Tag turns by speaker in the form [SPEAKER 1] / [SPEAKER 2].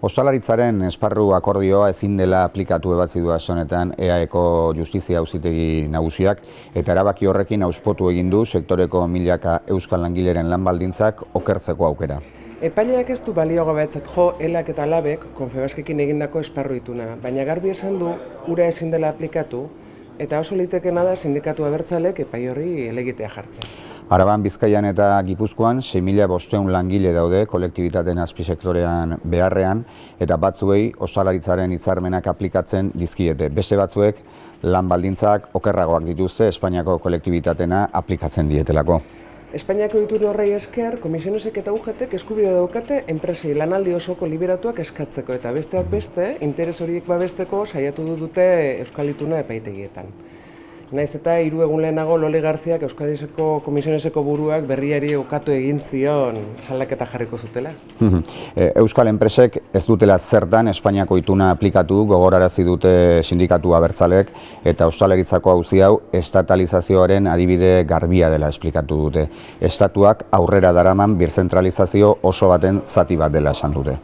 [SPEAKER 1] Ostalaritzaren esparru akordioa ezin dela aplikatu ebatzi du aste honetan EAEko Justizia Auzitegi Nagusiak eta erabaki horrekin hauspotu egin du sektoreko milaka euskal langileren lan baldintzak okertzeko aukera.
[SPEAKER 2] Epaileak ez du baliogabetzat jo ELAk eta LABek Confebaskekin egindako esparru ituna, baina garbi esan du ura ezin dela aplikatu eta oso litekena da sindikatu abertzalek epai horri helegitea jartzen.
[SPEAKER 1] Araban, Bizkaian eta Gipuzkoan 6.500 langile daude kolektibitateen azpisektorean beharrean eta batzuei ostalaritzaren hitzarmenak aplikatzen dizkiete. Beste batzuek lan baldintzak okerragoak dituzte Espainiako kolektibitatena aplikatzen dietelako.
[SPEAKER 2] Espainiako itun horrei esker, komisionesek eta UGTek eskubide daukate enpresei lanaldi osoko liberatuak eskatzeko eta besteak beste, interes horiek babesteko saiatu dute Euskal Ituna epaitegietan. Naiz eta 3 egun lehenago Loli Garziak Euskadiko komisioneseko buruak berriari ukatu egin zion salaketa jarriko zutela.
[SPEAKER 1] Euskal enpresek ez dutela zertan Espainiako ituna aplikatu gogorarazi dute sindikatu abertzalek eta ostalaritzako auzi hau estatalizazioaren adibide garbia dela esplikatu dute. Estatuak aurrera daraman birzentralizazio oso baten zati bat dela esan dute.